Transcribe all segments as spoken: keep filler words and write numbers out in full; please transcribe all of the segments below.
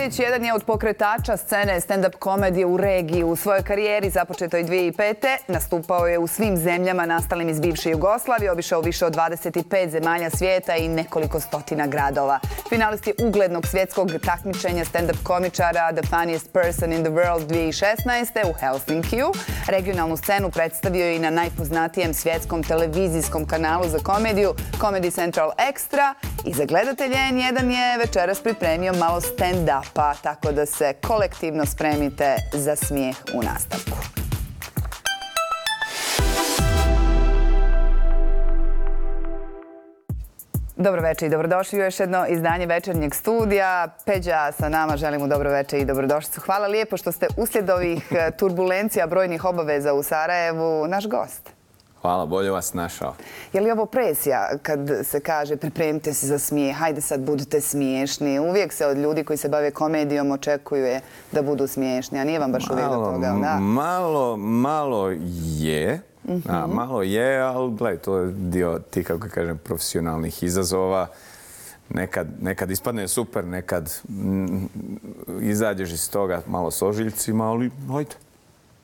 Peđić jedan je od pokretača scene stand-up komedije u regiji. U svojoj karijeri, započetoj dvije hiljade pete. nastupao je u svim zemljama nastalim iz bivše Jugoslavije, obišao više od dvadeset pet zemalja svijeta i nekoliko stotina gradova. Finalist je uglednog svjetskog takmičenja stand-up komičara The Funniest Person in the World dvije hiljade šesnaeste. u Helsinkiju. Regionalnu scenu predstavio je i na najpoznatijem svjetskom televizijskom kanalu za komediju Comedy Central Extra. I za gledatelje N jedan je večeras pripremio malo stand-upa, tako da se kolektivno spremite za smijeh u nastavku. Dobro večer i dobrodošli u još jedno izdanje Večernjeg studija. Peđa sa nama, želim mu dobro večer i dobrodošlicu. Hvala lijepo što ste uslijed ovih turbulencija, brojnih obaveza u Sarajevu, naš gost. Hvala, bolje vas našao. Je li ovo presija kad se kaže pripremite se za smijeh, hajde sad budite smiješni? Uvijek se od ljudi koji se bave komedijom očekuje da budu smiješni, a nije vam baš uvijek do toga, da? Malo, malo je. A, malo je, ali gledaj, to je dio ti, kako kažem, profesionalnih izazova. Nekad, nekad ispadne super, nekad m, izađeš iz toga malo s ožiljcima, ali hajde.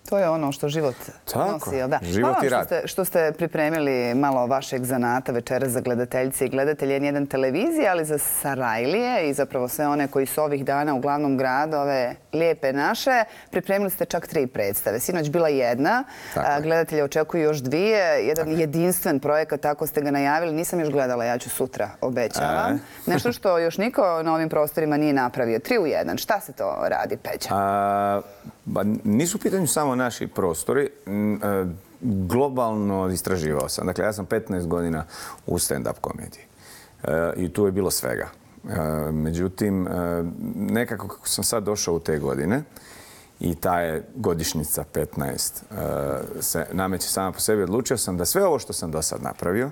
To je ono što život Tako, nosi, jel da? život i rad. Hvala što, što ste pripremili malo vašeg zanata večeras za gledateljice i gledatelje N jedan televizije, ali za Sarajlije i zapravo sve one koji su ovih dana u glavnom gradu, ove lijepe naše, pripremili ste čak tri predstave. Sinoć bila jedna, a, gledatelje očekuju još dvije, jedan tako. jedinstven projekat, tako ste ga najavili. Nisam još gledala, ja ću sutra, obećavam. E. Nešto što još niko na ovim prostorima nije napravio. Tri u jedan. Šta se to radi, Peđa? A, ba, nisu u pitanju samo naši prostori. Globalno istraživao sam. Dakle, ja sam petnaest godina u stand-up komediji. I tu je bilo svega. Međutim, nekako kako sam sad došao u te godine i ta je godišnjica petnaest se nameće sama po sebi, odlučio sam da sve ovo što sam do sad napravio,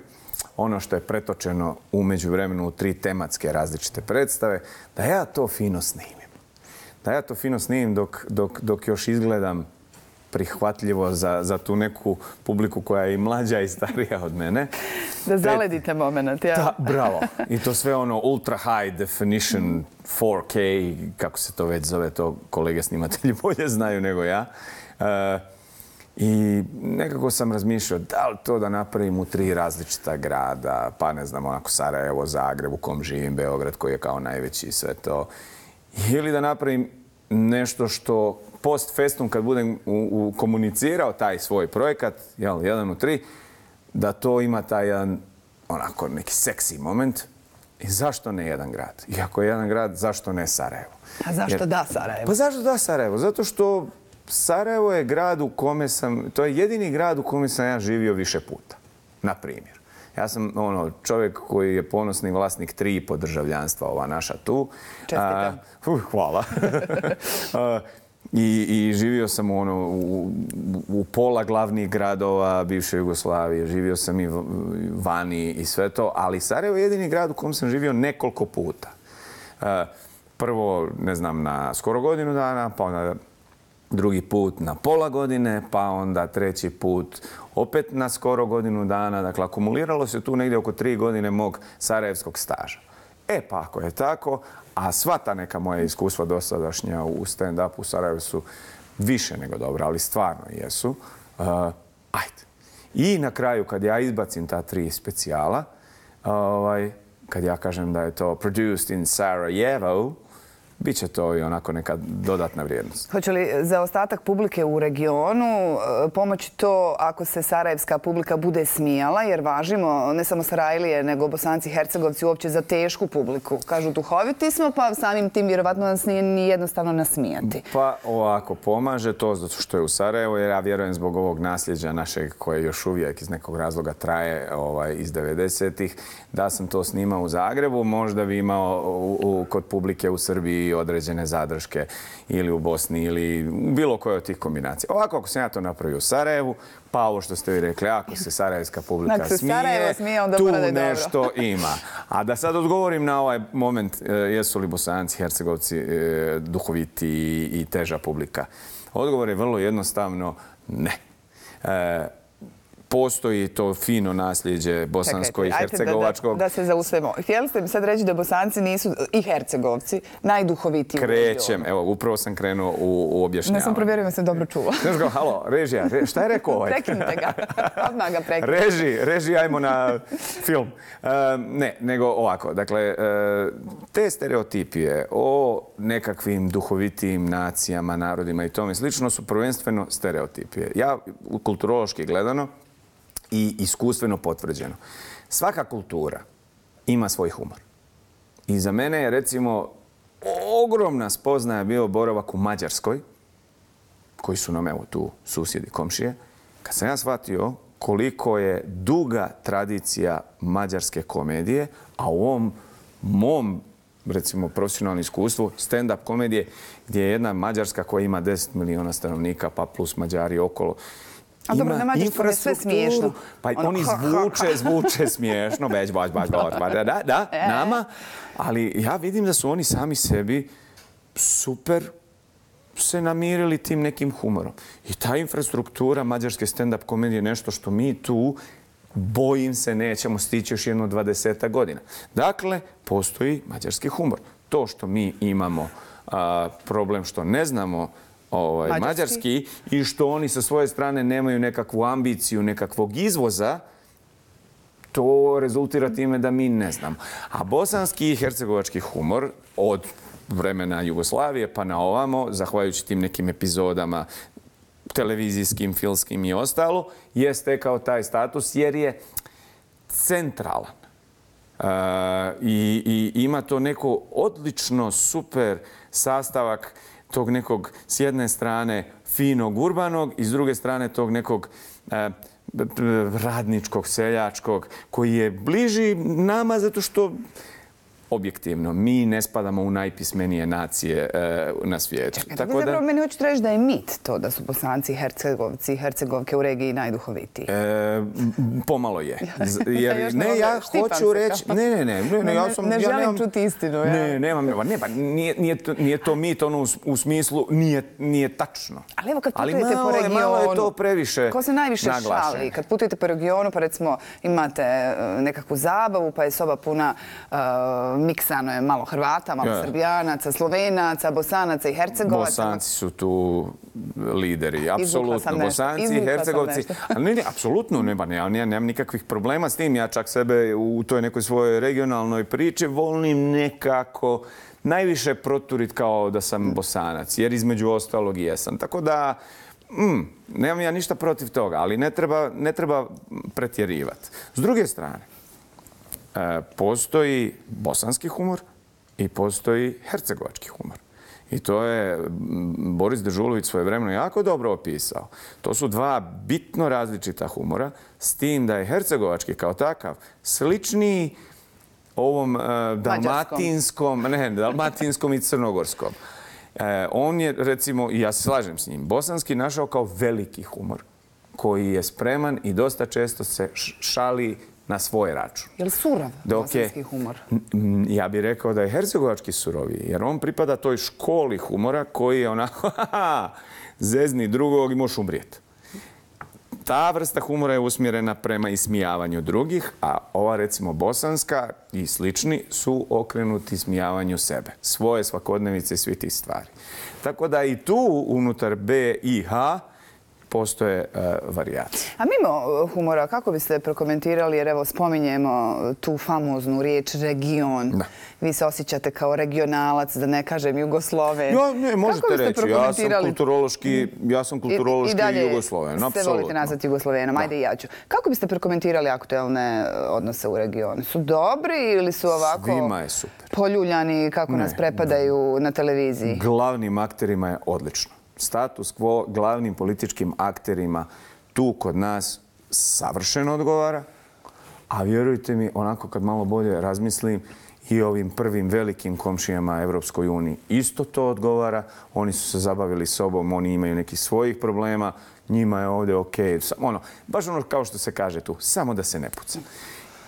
ono što je pretočeno u međuvremenu u tri tematske različite predstave, da ja to fino snimim. Da ja to fino snimim dok, dok, dok još izgledam prihvatljivo za, za tu neku publiku koja je i mlađa i starija od mene. Da zaledite moment, ja. Da, bravo. I to sve ono ultra high definition four K, kako se to već zove, to kolege snimatelji bolje znaju nego ja. Uh, I nekako sam razmišljao da li to da napravim u tri različita grada, pa ne znam, onako Sarajevo, Zagreb, u kom živim, Beograd koji je kao najveći i sve to. Ili da napravim nešto što post festum, kad budem u, u komunicirao taj svoj projekat, jel, jedan u tri, da to ima taj jedan, onako, neki seksi moment. I zašto ne jedan grad? I ako je jedan grad, zašto ne Sarajevo? A zašto Jer, da Sarajevo? Pa zašto da Sarajevo? Zato što Sarajevo je grad u kome sam, to je jedini grad u kome sam ja živio više puta, na primjer. Ja sam ono, čovjek koji je ponosni vlasnik tri i po državljanstva, ova naša tu. Čestitam. Uh, hvala. I, I živio sam ono, u, u pola glavnih gradova bivše Jugoslavije, živio sam i vani i sve to, ali Sarajevo je jedini grad u kojem sam živio nekoliko puta. Prvo, ne znam, na skoro godinu dana, pa onda drugi put na pola godine, pa onda treći put opet na skoro godinu dana. Dakle, akumuliralo se tu negdje oko tri godine mog sarajevskog staža. E pa ako je tako, a sva ta neka moja iskustva dosadašnja u stand-upu u Sarajevu su više nego dobra, ali stvarno jesu. Uh, ajde. I na kraju, kad ja izbacim ta tri specijala, ovaj, kad ja kažem da je to produced in Sarajevo, bit će to i onako neka dodatna vrijednost. Hoće li za ostatak publike u regionu pomoći to ako se sarajevska publika bude smijala, jer važimo ne samo Sarajlije, nego Bosanci i Hercegovci uopće za tešku publiku. Kažu duhoviti smo, pa samim tim vjerovatno nas nije ni jednostavno nasmijati. Pa ovako, pomaže to zato što je u Sarajevu, jer ja vjerujem zbog ovog nasljeđa našeg koje još uvijek iz nekog razloga traje ovaj, iz devedesetih, da sam to snimao u Zagrebu, možda bi imao u, u, kod publike u Srbiji određene zadrške ili u Bosni ili bilo koje od tih kombinacija. Ovako, ako sam ja to napravio u Sarajevu, pa ovo što ste vi rekli, ako se sarajevska publika dakle, smije, smije onda tu da nešto ima. A da sad odgovorim na ovaj moment, jesu li Bosanci, Hercegovci duhoviti i teža publika? Odgovor je vrlo jednostavno ne. postoji to fino nasljeđe bosansko i hercegovačkog. Da, da, da se zaustavimo. Htjeli ste mi sad reći da Bosanci nisu, i Hercegovci, najduhovitiji u regionu. Krećem, evo, upravo sam krenuo u, u objašnjavanje. Ne sam provjerio, sam dobro čula. Znaš ga, halo, režija, re, šta je rekao ovaj? Prekinite ga, odmah ga prekinite. Reži, reži, ajmo na film. Uh, ne, nego ovako, dakle, uh, te stereotipije o nekakvim duhovitijim nacijama, narodima i tome slično su prvenstveno stereotipije. Ja, kulturološki gledano, i iskustveno potvrđeno. Svaka kultura ima svoj humor. I za mene je, recimo, ogromna spoznaja bio boravak u Mađarskoj, koji su nam, evo, tu susjedi, komšije, kad sam ja shvatio koliko je duga tradicija mađarske komedije, a u ovom mom, recimo, profesionalnom iskustvu, stand-up komedije, gdje je jedna Mađarska koja ima deset miliona stanovnika, pa plus Mađari okolo, a dobro, na mađarskom je sve smiješno. Pa oni zvuče, zvuče smiješno, već, baš, baš, baš, da, da, nama. Ali ja vidim da su oni sami sebi super se namirili tim nekim humorom. I ta infrastruktura mađarske stand-up komedije je nešto što mi tu, bojim se, nećemo stići još jedno dvadesetak godina. Dakle, postoji mađarski humor. To što mi imamo a, problem što ne znamo Ovaj, mađarski. mađarski i što oni sa svoje strane nemaju nekakvu ambiciju, nekakvog izvoza, to rezultira time da mi ne znamo. A bosanski i hercegovački humor od vremena Jugoslavije pa na ovamo, zahvaljujući tim nekim epizodama televizijskim, filmskim i ostalo, je stekao taj status jer je centralan. Uh, i, i ima to neko odlično, super sastavak tog nekog, s jedne strane, finog urbanog i s druge strane tog nekog eh, radničkog, seljačkog, koji je bliži nama zato što objektivno, mi ne spadamo u najpismenije nacije e, na svijetu. Čekaj, tako da, zapravo meni hoćete reći da je mit to da su Bosanci, Hercegovci i Hercegovke u regiji najduhovitiji. E, pomalo je. Jer, ne, ja hoću reći... Ne, ne, ne. Ne, ne, ja sam, ne želim ja nemam, čuti istinu. Ja. Ne, nemam. Ne, pa nije, nije, to, nije to mit ono u, u smislu nije, nije tačno. Ali evo kad Ali putujete malo, po regionu... malo je to previše ko se najviše naglašen. šali? Kad putujete po regionu, pa recimo imate nekakvu zabavu, pa je soba puna uh, miksa je malo Hrvata, malo ja. Srbijanaca, Slovenaca, Bosanaca i Hercegovaca. Bosanci su tu lideri, apsolutno. Bosanci i Hercegovci. Ne, ne, apsolutno nema, ne, ja nemam nikakvih problema s tim. Ja čak sebe u toj nekoj svojoj regionalnoj priči volim nekako najviše proturit kao da sam Bosanac, jer između ostalog i jesam. Tako da, mm, nemam ja ništa protiv toga, ali ne treba, ne treba pretjerivati. S druge strane, postoji bosanski humor i postoji hercegovački humor. I to je Boris Dežulović svojevremeno jako dobro opisao. To su dva bitno različita humora, s tim da je hercegovački kao takav sličniji ovom uh, dalmatinskom, ne, dalmatinskom i crnogorskom. Uh, on je, recimo, i ja se slažem s njim, bosanski našao kao veliki humor, koji je spreman i dosta često se šali na svoj račun. Je li surov bosanski humor? Ja bih rekao da je hercegovački suroviji, jer on pripada toj školi humora koji je onako, zezni drugog i možeš umrijeti. Ta vrsta humora je usmjerena prema ismijavanju drugih, a ova, recimo, bosanska i slični su okrenuti ismijavanju sebe, svoje svakodnevice i svi tih stvari. Tako da i tu unutar B i H postoje uh, varijacije. A mimo humora, kako biste prokomentirali, jer evo spominjemo tu famoznu riječ region. Da. Vi se osjećate kao regionalac, da ne kažem Jugosloven. Ja, ne, možete reći. Ja sam kulturološki, ja sam kulturološki I, i Jugosloven. Se apsolutno. Volite nazvati Jugoslovenom, ajde i ja ću. Kako biste prokomentirali aktuelne odnose u regionu? Su dobri ili su ovako Svima je super. Poljuljani kako ne, nas prepadaju na televiziji? Glavnim akterima je odlično. Status quo glavnim političkim akterima tu kod nas savršeno odgovara, a vjerujte mi, onako kad malo bolje razmislim, i ovim prvim velikim komšijama Evropskoj uniji isto to odgovara. Oni su se zabavili sobom, oni imaju nekih svojih problema, njima je ovdje okej. Ono, baš ono kao što se kaže tu, samo da se ne puca.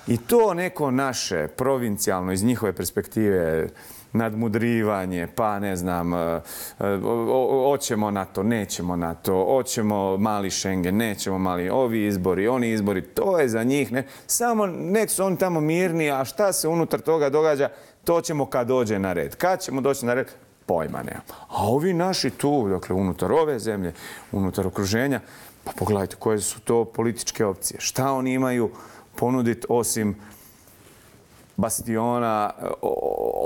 I to neko naše, provincijalno, iz njihove perspektive, nadmudrivanje, pa ne znam, hoćemo NATO, nećemo NATO, hoćemo mali Schengen, nećemo mali, ovi izbori, oni izbori, to je za njih. Ne, samo nek su oni tamo mirni, a šta se unutar toga događa, to ćemo kad dođe na red. Kad ćemo doći na red? Pojma nema. A ovi naši tu, dakle, unutar ove zemlje, unutar okruženja, pa pogledajte koje su to političke opcije. Šta oni imaju ponuditi osim bastiona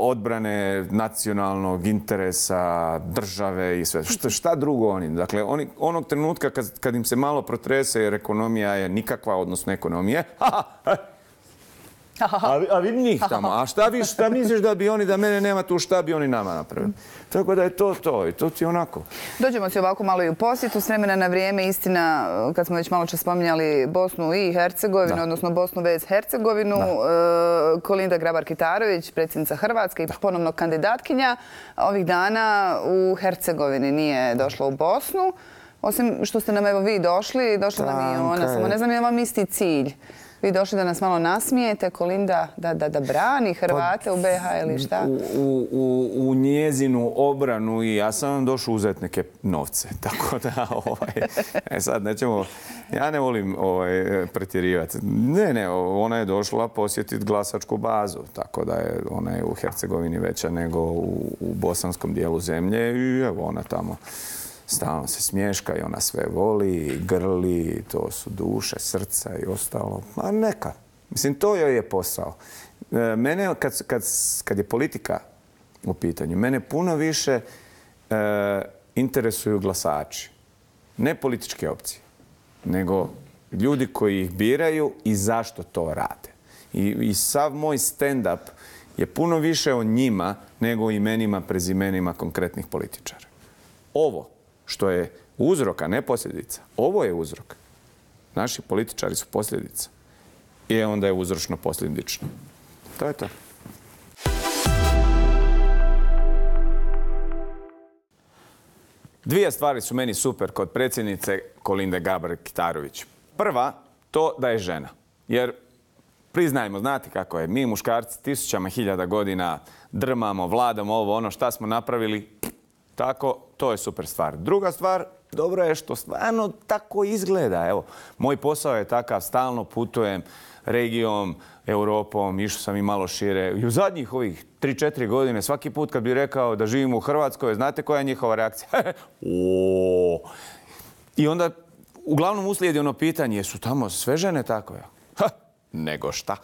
odbrane nacionalnog interesa, države i sve. Šta, šta drugo oni? Dakle, oni, onog trenutka kad, kad im se malo protrese jer ekonomija je nikakva, odnosno ekonomije, ha, ha, A, a vidi njih tamo. A šta, vi, šta misliš da bi oni, da mene nema tu, šta bi oni nama napravili? Tako da je to to i to ti onako. Dođemo si ovako malo i u posjetu s vremena na vrijeme. Istina, kad smo već malo čas spominjali Bosnu i Hercegovinu, da. odnosno Bosnu vez Hercegovinu, da. Kolinda Grabar-Kitarović, predsjednica Hrvatske i da. ponovno kandidatkinja, ovih dana u Hercegovini nije došla u Bosnu. Osim što ste nam evo vi došli, došla nam i ona. Samo ne znam je vam isti cilj. Vi došli da nas malo nasmijete, Kolinda da, da, da brani Hrvate pa, u be ha ili šta? U, u, u njezinu obranu i ja sam vam došao uzeti neke novce. Tako da, ovaj, e sad nećemo, ja ne volim ovaj, pretjerivati. Ne, ne, ona je došla posjetiti glasačku bazu. Tako da je ona je u Hercegovini veća nego u, u bosanskom dijelu zemlje i evo ona tamo. Stalno se smješka i ona sve voli, grli, to su duše, srca i ostalo. A neka. Mislim, to joj je posao. Mene, kad, kad, kad je politika u pitanju, mene puno više e, interesuju glasači. Ne političke opcije, nego ljudi koji ih biraju i zašto to rade. I, i sav moj stand-up je puno više o njima nego o imenima, prezimenima konkretnih političara. Ovo što je uzrok, a ne posljedica. Ovo je uzrok. Naši političari su posljedica. I onda je uzročno posljedično. To je to. Dvije stvari su meni super kod predsjednice Kolinde Grabar-Kitarović. Prva, to da je žena. Jer, priznajmo, znate kako je, mi muškarci tisućama hiljada godina drmamo, vladamo ovo, ono šta smo napravili, tako, to je super stvar. Druga stvar, dobro je što stvarno tako izgleda. Evo, moj posao je takav, stalno putujem regijom, Europom, išao sam i malo šire. I u zadnjih ovih tri četiri godine, svaki put kad bih rekao da živim u Hrvatskoj, znate koja je njihova reakcija? O! I onda, uglavnom uslijedi ono pitanje, jesu tamo sve žene tako? Ha, nego šta?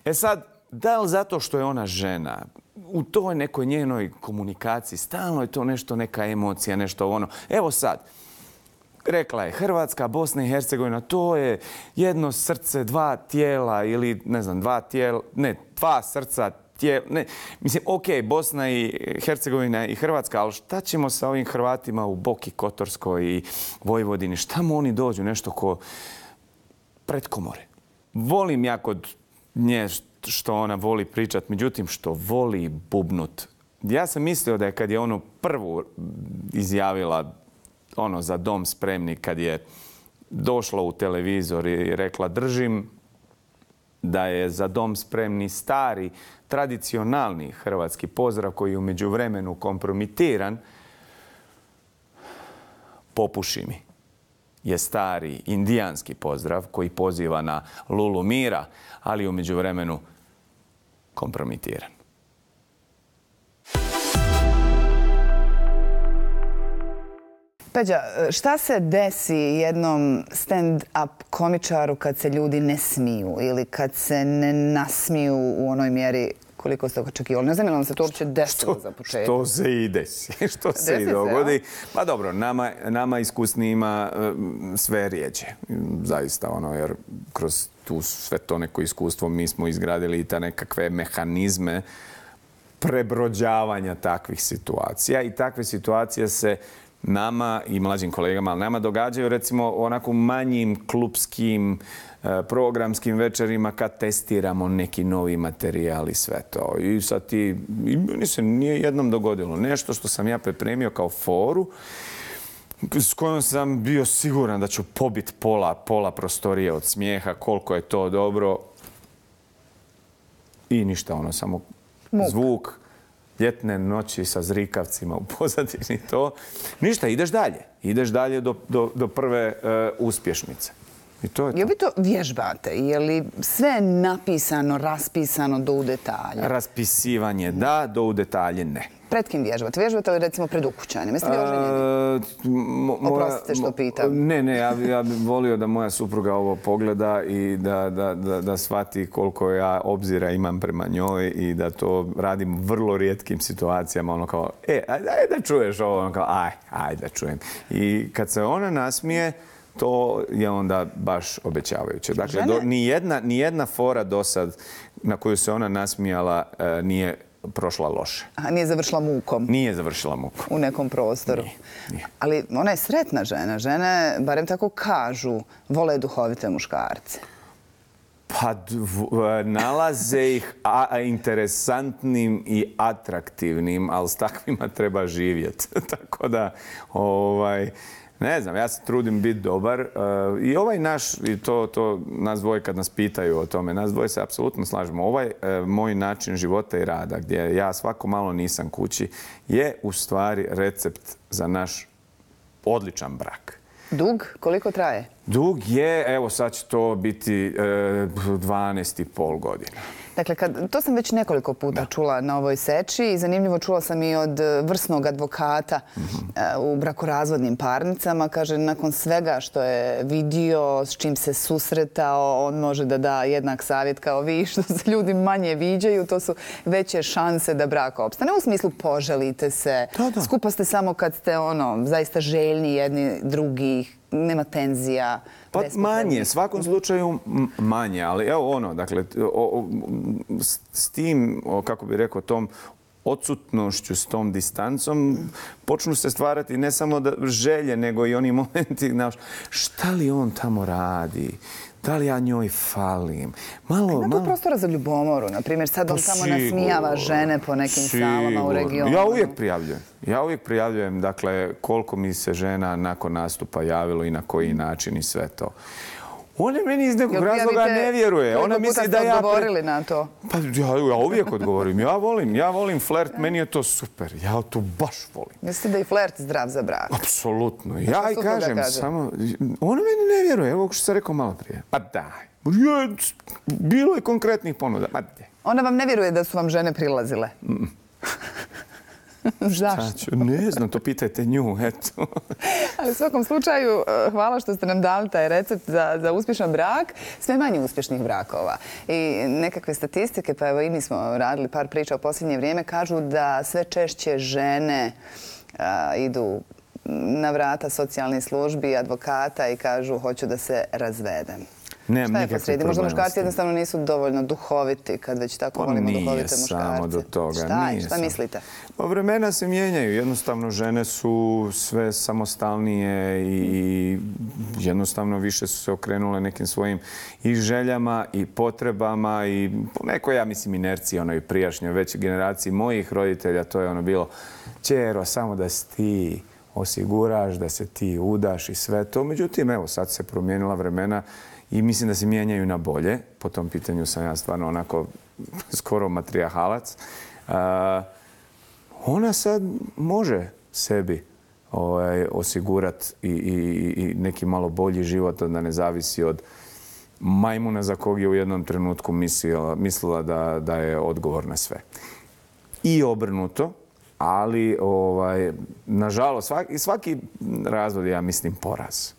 E sad, da li zato što je ona žena, u toj nekoj njenoj komunikaciji, stalno je to nešto, neka emocija, nešto ono. Evo sad, rekla je Hrvatska, Bosna i Hercegovina, to je jedno srce, dva tijela ili, ne znam, dva tijela, ne, dva srca, tijela, ne. Mislim, okej, okay, Bosna i Hercegovina i Hrvatska, ali šta ćemo sa ovim Hrvatima u Boki Kotorskoj i Vojvodini? Šta mu oni dođu? Nešto ko pretkomore. Volim ja kod nje što ona voli pričat, međutim što voli bubnut. Ja sam mislio da je kad je ono prvu izjavila ono za dom spremni, kad je došla u televizor i rekla držim da je za dom spremni stari, tradicionalni hrvatski pozdrav koji je u međuvremenu kompromitiran, popuši mi, je stari indijanski pozdrav koji poziva na lulu mira, ali u međuvremenu kompromitiran. Peđa, šta se desi jednom stand-up komičaru kad se ljudi ne smiju ili kad se ne nasmiju u onoj mjeri koliko ste očekivali? Ne znam je li vam se to uopće desilo za početak? Što se i desi. Što se i dogodi. Pa dobro, nama, nama iskusnijima sve rijeđe. Zaista, ono, jer kroz tu sve to neko iskustvo mi smo izgradili i ta nekakve mehanizme prebrođavanja takvih situacija. I takve situacije se nama i mlađim kolegama, ali nama događaju recimo onako manjim klupskim programskim večerima kad testiramo neki novi materijal i sve to. I sad ti, i meni se nije jednom dogodilo nešto što sam ja pripremio kao foru s kojom sam bio siguran da ću pobiti pola, pola prostorije od smijeha, koliko je to dobro. I ništa, ono, samo Muk. zvuk. ljetne noći sa zrikavcima u pozadini to. Ništa, ideš dalje. Ideš dalje do, do, do prve uh, uspješnice. I to je to. Je li vi to vježbate? Je li sve napisano, raspisano do u detalje? Raspisivanje da, do u detalje ne. Pred kim vježbate? Vježbate li recimo pred ukućanima? Jeste li oženjeni? Oprostite što pitam. Ne, ne, ja, ja bih volio da moja supruga ovo pogleda i da, da, da, da shvati koliko ja obzira imam prema njoj i da to radim vrlo rijetkim situacijama. Ono kao, e, ajde da čuješ ovo. Ono kao, aj, ajde da čujem. I kad se ona nasmije, to je onda baš obećavajuće. Dakle, do, nijedna, nijedna fora do sad na koju se ona nasmijala e, nije prošla loše. A nije završila mukom? Nije završila mukom. U nekom prostoru? Nije, nije. Ali ona je sretna žena. Žene, barem tako kažu, vole duhovite muškarce. Pa nalaze ih a, interesantnim i atraktivnim, ali s takvima treba živjeti. Tako da, ovaj... Ne znam, ja se trudim biti dobar i ovaj naš, i to, to nas dvoje kad nas pitaju o tome, nas dvoje se apsolutno slažemo. Ovaj moj način života i rada, gdje ja svako malo nisam kući, je u stvari recept za naš odličan brak. Dug? Koliko traje? Dug je, evo sad će to biti dvanaest i pol godina. Dakle, kad, to sam već nekoliko puta da. čula na ovoj seči i zanimljivo čula sam i od vrsnog advokata mm-hmm. u brakorazvodnim parnicama. Kaže, nakon svega što je vidio, s čim se susretao, on može da da jednak savjet kao vi, što se ljudi manje viđaju, to su veće šanse da brak opstane. U smislu poželite se, da, da. skupa ste samo kad ste ono, zaista željni jedni drugih, nema tenzija. Pa manje, u svakom slučaju manje, ali evo ono, dakle, o, o, s, s tim, o, kako bih rekao, tom odsutnošću, s tom distancom, počnu se stvarati ne samo da, želje, nego i oni momenti, znaš, šta li on tamo radi? Da li ja njoj falim? Malo, Ima malo... tu prostora za ljubomoru, na primjer, sad on tamo nasmijava žene po nekim sigurno. salama u regionu. Ja uvijek prijavljujem. Ja uvijek prijavljujem, dakle, koliko mi se žena nakon nastupa javilo i na koji način i sve to. Ona meni iz nekog razloga ne vjeruje. Ona misli da ja... Koliko puta ste odgovorili na to? Pa ja, ja uvijek odgovorim. Ja volim, ja volim flert, meni je to super. Ja to baš volim. Mislite da je flert zdrav za brak? Apsolutno. Ja i kažem, samo... Ona meni ne vjeruje, evo što sam rekao malo prije. Pa daj. Bilo je konkretnih ponuda. Pa daj. Ona vam ne vjeruje da su vam žene prilazile? Mm. Zašto? Ne znam, to pitajte nju, eto. Ali u svakom slučaju, hvala što ste nam dali taj recept za, za uspješan brak. Sve manje uspješnih brakova. I nekakve statistike, pa evo i mi smo radili par priča u posljednje vrijeme, kažu da sve češće žene a, idu na vrata socijalnih službi i advokata i kažu hoću da se razvedem. Nemam Šta je posrijedi? Možda muškarci jednostavno nisu dovoljno duhoviti kad već tako volimo duhovite muškarce. Nije samo do toga. Šta je? Nije Šta sam. mislite? Pa vremena se mijenjaju. Jednostavno žene su sve samostalnije i jednostavno više su se okrenule nekim svojim i željama i potrebama i po nekoj, ja mislim, inerciji onoj prijašnjoj većoj generaciji mojih roditelja. To je ono bilo, ćero, samo da si ti osiguraš, da se ti udaš i sve to. Međutim, evo, sad se promijenila vremena i mislim da se mijenjaju na bolje. Po tom pitanju sam ja stvarno onako skoro matrijahalac. Uh, ona sad može sebi ovaj, osigurati i, i, i neki malo bolji život, da ne zavisi od majmuna za kog je u jednom trenutku mislila, mislila da, da je odgovor na sve. I obrnuto, ali ovaj, nažalost svaki, svaki razvod je, ja mislim, poraz.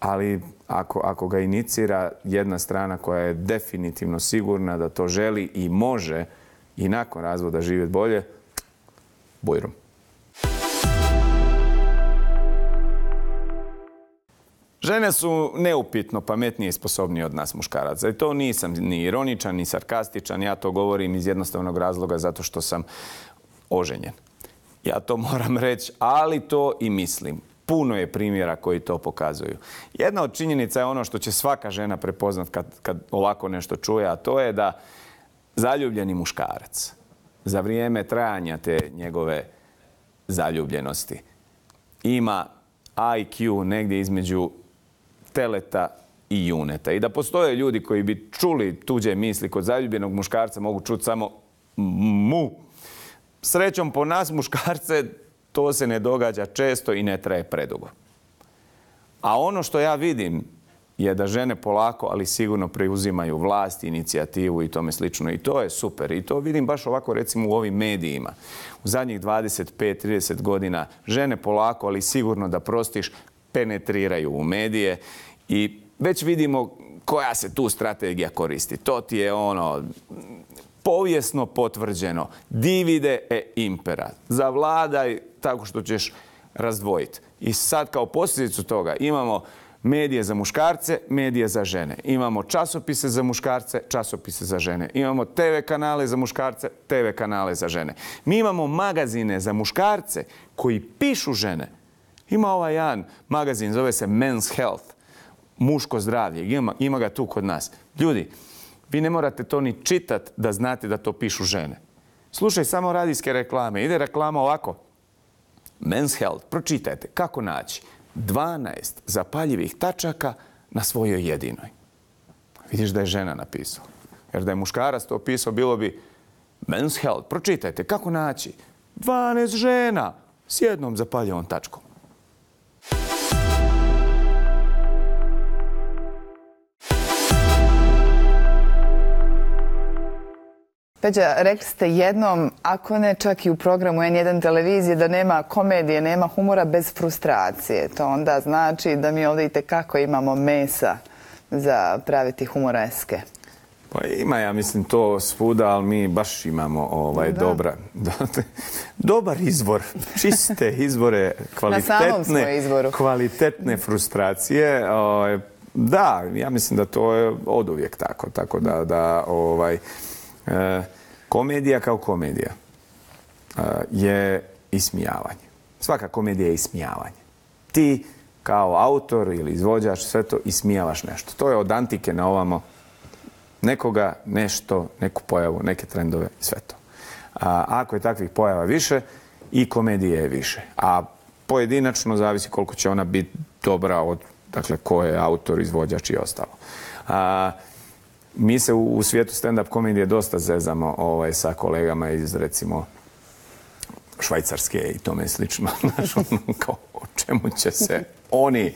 Ali ako, ako ga inicira jedna strana koja je definitivno sigurna da to želi i može i nakon razvoda živjeti bolje, bujrum. Žene su neupitno pametnije i sposobnije od nas muškaraca. I to nisam ni ironičan, ni sarkastičan. Ja to govorim iz jednostavnog razloga zato što sam oženjen. Ja to moram reći, ali to i mislim. Puno je primjera koji to pokazuju. Jedna od činjenica je ono što će svaka žena prepoznat kad, kad ovako nešto čuje, a to je da zaljubljeni muškarac za vrijeme trajanja te njegove zaljubljenosti ima I Q negdje između teleta i juneta. I da postoje ljudi koji bi čuli tuđe misli kod zaljubljenog muškarca, mogu čuti samo mu. Srećom po nas, muškarce, to se ne događa često i ne traje predugo. A ono što ja vidim je da žene polako, ali sigurno preuzimaju vlast, inicijativu i tome slično. I to je super. I to vidim baš ovako recimo u ovim medijima. U zadnjih dvadeset pet do trideset godina žene polako, ali sigurno da prostiš, penetriraju u medije i već vidimo koja se tu strategija koristi. To ti je ono povijesno potvrđeno. Divide e impera. Zavladaj tako što ćeš razdvojiti. I sad kao posljedicu toga imamo medije za muškarce, medije za žene. Imamo časopise za muškarce, časopise za žene. Imamo te ve kanale za muškarce, te ve kanale za žene. Mi imamo magazine za muškarce koji pišu žene. Ima ovaj jedan magazin, zove se Men's Health, muško zdravlje. Ima, ima ga tu kod nas. Ljudi, vi ne morate to ni čitati da znate da to pišu žene. Slušaj samo radijske reklame. Ide reklama ovako. Men's Health, pročitajte kako naći dvanaest zapaljivih tačaka na svojoj jedinoj. Vidiš da je žena napisala. Jer da je muškarac to pisao, bilo bi Men's Health, pročitajte kako naći dvanaest žena s jednom zapaljivom tačkom. Peđa, rekli ste jednom, ako ne čak i u programu en jedan televizije, da nema komedije, nema humora bez frustracije. To onda znači da mi ovdje i tekako imamo mesa za praviti humoreske. Pa ima, ja mislim, to svuda, ali mi baš imamo ovaj, dobra, dobar izvor, čiste izvore, kvalitetne, kvalitetne frustracije. Da, ja mislim da to je oduvijek tako, tako da, da ovaj, E, komedija kao komedija e, je ismijavanje. Svaka komedija je ismijavanje. Ti kao autor ili izvođač sve to ismijavaš nešto. To je od antike na ovamo nekoga, nešto, neku pojavu, neke trendove, sve to. A ako je takvih pojava više, i komedije je više. A pojedinačno zavisi koliko će ona biti dobra od, dakle, ko je autor, izvođač i ostalo. A, Mi se u, u svijetu stand-up komedije dosta zezamo ovaj, sa kolegama iz, recimo, Švajcarske i tome slično. Znaš, ono, kao, o čemu će se oni,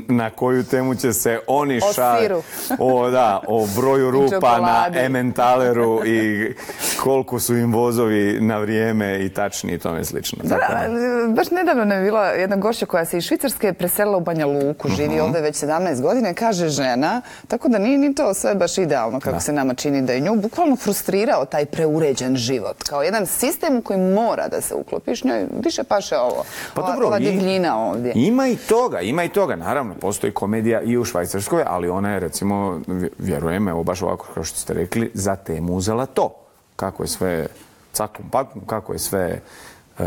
na koju temu će se oni šaliti. O, da, o broju rupa na Emmentaleru i koliko su im vozovi na vrijeme i tačni i tome slično. Da, baš nedavno nam je bila jedna gošća koja se iz Švicarske preselila u Banja Luku, živi uh-huh. ovdje već sedamnaest godina, kaže žena, tako da nije ni to sve baš idealno kako da. se nama čini, da je nju bukvalno frustrirao taj preuređen život. Kao jedan sistem u koji mora da se uklopiš, njoj više paše ovo, pa ova, dobro, ova divljina ovdje. Ima i toga, ima i toga. Naravno, postoji komedija i u Švajcarskoj, ali ona je, recimo, vjerujem, evo baš ovako kao što ste rekli, za temu uzela to. Kako je sve caklom paklom, kako je sve e,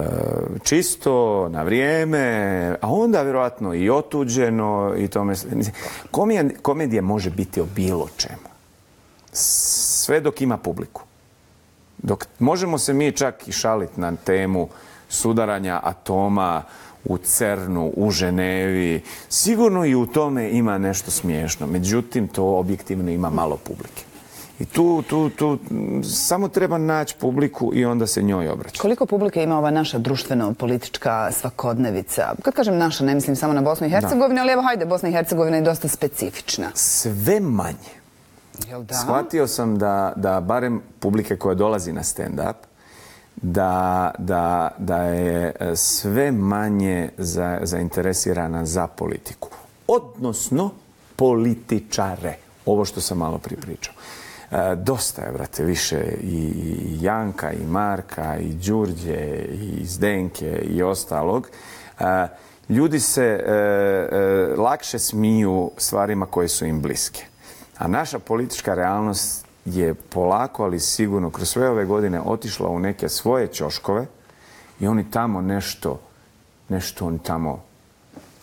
čisto, na vrijeme, a onda vjerojatno i otuđeno i tome. Komedija, komedija može biti o bilo čemu. Sve dok ima publiku. Dok možemo se mi čak i šaliti na temu sudaranja atoma u Cernu, u Ženevi. Sigurno i u tome ima nešto smiješno. Međutim, to objektivno ima malo publike. I tu, tu, tu samo treba naći publiku i onda se njoj obraća. Koliko publike ima ova naša društveno-politička svakodnevica? Kad kažem naša, ne mislim samo na Bosnu i Hercegovinu, ali evo, hajde, Bosna i Hercegovina je dosta specifična. Sve manje. Jel da? Shvatio sam da, da barem publike koja dolazi na stand-up, da, da, da je sve manje za, zainteresirana za politiku. Odnosno, političare. Ovo što sam malo pripričao. E, dosta je, brate, više i Janka, i Marka, i Đurđe, i Zdenke, i ostalog. E, ljudi se e, e, lakše smiju stvarima koje su im bliske. A naša politička realnost je polako, ali sigurno, kroz sve ove godine otišla u neke svoje ćoškove i oni tamo nešto, nešto oni tamo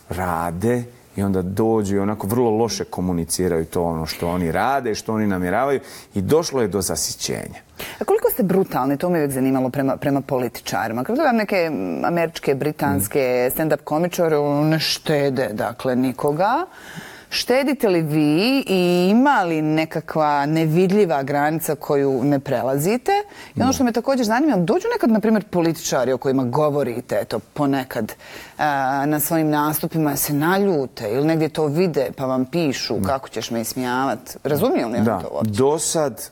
rade i onda dođu i onako vrlo loše komuniciraju to ono što oni rade, što oni namjeravaju i došlo je do zasićenja. A koliko ste brutalni, to me uvijek zanimalo prema, prema političarima. Kad gledam neke američke, britanske stand-up komičare, ne štede, dakle, nikoga. Štedite li vi i ima li nekakva nevidljiva granica koju ne prelazite? I ono što me također zanima, dođu nekad, na primjer, političari o kojima govorite, eto, ponekad a, na svojim nastupima se naljute ili negdje to vide pa vam pišu kako ćeš me ismijavati. Razumiju li da, to uopće? Do sad,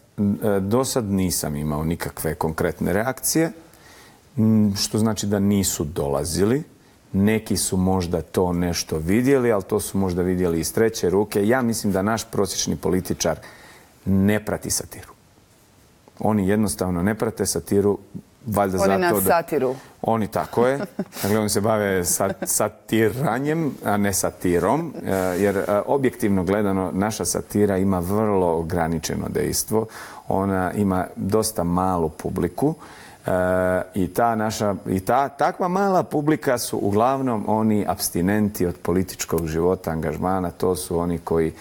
do sad nisam imao nikakve konkretne reakcije, što znači da nisu dolazili. Neki su možda to nešto vidjeli, ali to su možda vidjeli iz treće ruke. Ja mislim da naš prosječni političar ne prati satiru. Oni jednostavno ne prate satiru, valjda zato da... Oni nas satiru. Oni, tako je. Dakle, oni se bave satiranjem, a ne satirom, jer objektivno gledano naša satira ima vrlo ograničeno dejstvo. Ona ima dosta malu publiku. E, i ta naša i ta takva mala publika su uglavnom oni apstinenti od političkog života, angažmana. To su oni koji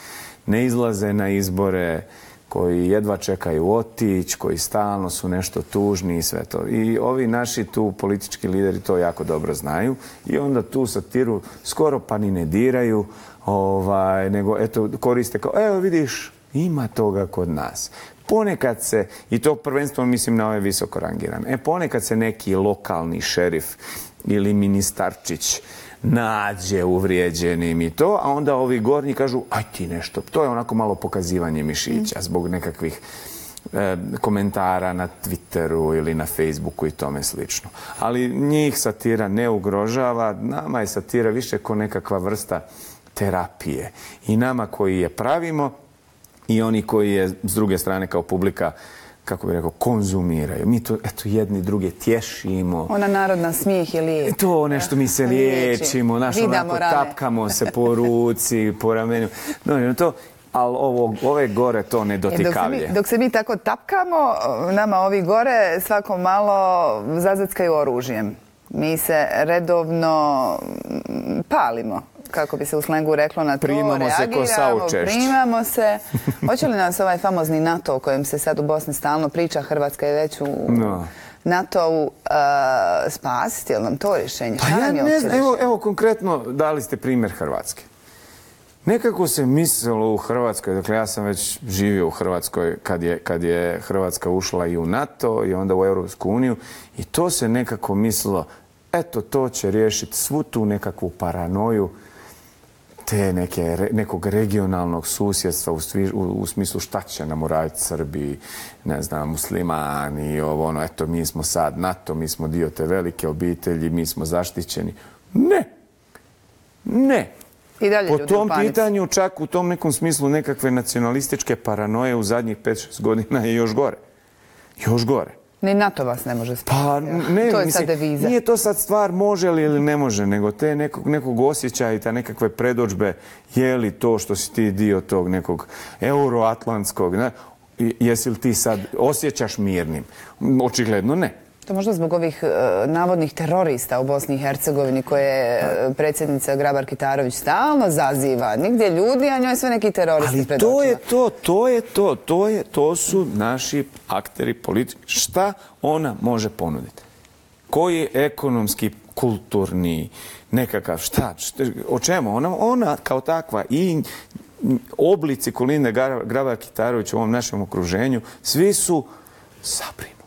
ne izlaze na izbore, koji jedva čekaju otić, koji stalno su nešto tužni i sve to. I ovi naši tu politički lideri to jako dobro znaju i onda tu satiru skoro pa ni ne diraju, ovaj, nego eto koriste kao, evo vidiš, ima toga kod nas. Ponekad se, i to prvenstveno mislim na ove visoko rangirane, e ponekad se neki lokalni šerif ili ministarčić nađe uvrijeđenim i to, a onda ovi gornji kažu, aj ti nešto. To je onako malo pokazivanje mišića zbog nekakvih e, komentara na Twitteru ili na Facebooku i tome slično. Ali njih satira ne ugrožava, nama je satira više ko nekakva vrsta terapije. I nama koji je pravimo, i oni koji je s druge strane kao publika, kako bih rekao, konzumiraju. Mi to, eto, jedni druge tješimo. Ona narodna smijeh je lijek. To nešto mi se liječimo, naš onako tapkamo se po ruci, po ramenu. No, to, ali ovo, ove gore to ne dotikavlje. Dok se, mi, dok se mi tako tapkamo, nama ovi gore svako malo zazackaju oružjem. Mi se redovno palimo, kako bi se u slengu reklo, na to, primamo reagiramo, se ko saučešć. primamo se. Hoće li nas ovaj famozni NATO o kojem se sad u Bosni stalno priča, Hrvatska je već u no. NATO-u, uh, spasiti, je li nam to rješenje? Pa ja ne znam, evo, evo konkretno dali ste primjer Hrvatske. Nekako se mislilo u Hrvatskoj, dakle ja sam već živio u Hrvatskoj kad je, kad je Hrvatska ušla i u NATO i onda u Europsku uniju i to se nekako mislilo, eto to će riješiti svu tu nekakvu paranoju te neke, nekog regionalnog susjedstva u, svi, u, u smislu šta će nam uraditi Srbi, ne znam, muslimani, ovo ono, eto mi smo sad NATO, mi smo dio te velike obitelji, mi smo zaštićeni. Ne! Ne! I dalje po tom pitanju, čak u tom nekom smislu nekakve nacionalističke paranoje u zadnjih pet šest godina je još gore. Još gore. Ni NATO vas ne može spasiti. Pa ne, to je mislim, sad deviza. Nije to sad stvar može li ili ne može, nego te nekog, nekog osjećaja i ta nekakve predođbe, je li to što si ti dio tog nekog euroatlantskog, ne? Jesi li ti sad osjećaš mirnim? Očigledno ne. To možda zbog ovih uh, navodnih terorista u Bosni i Hercegovini koje uh, predsjednica Grabar-Kitarović stalno zaziva. Nigdje ljudi, a njoj sve neki teroristi pred očima. Ali to je to, to je to, to je, to su naši akteri politički. Šta ona može ponuditi? Koji ekonomski, kulturni, nekakav, šta, šta o čemu? Ona, ona kao takva i oblici Kolinde Grabar-Kitarović u ovom našem okruženju, svi su zabrinuti.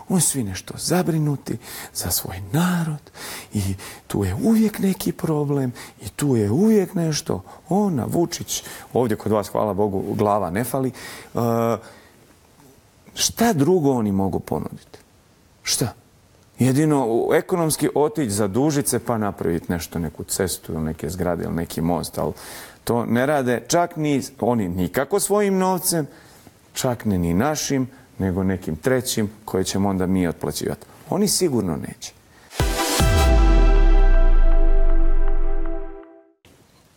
Oni svi nešto zabrinuti za svoj narod i tu je uvijek neki problem i tu je uvijek nešto. Ona, Vučić, ovdje kod vas, hvala Bogu, glava ne fali. Uh, šta drugo oni mogu ponuditi? Šta? Jedino ekonomski otići, zadužiti se pa napraviti nešto, neku cestu ili neke zgrade ili neki most, ali to ne rade čak ni oni nikako svojim novcem, čak ne ni našim, nego nekim trećim koje ćemo onda mi otplaćivati. Oni sigurno neće.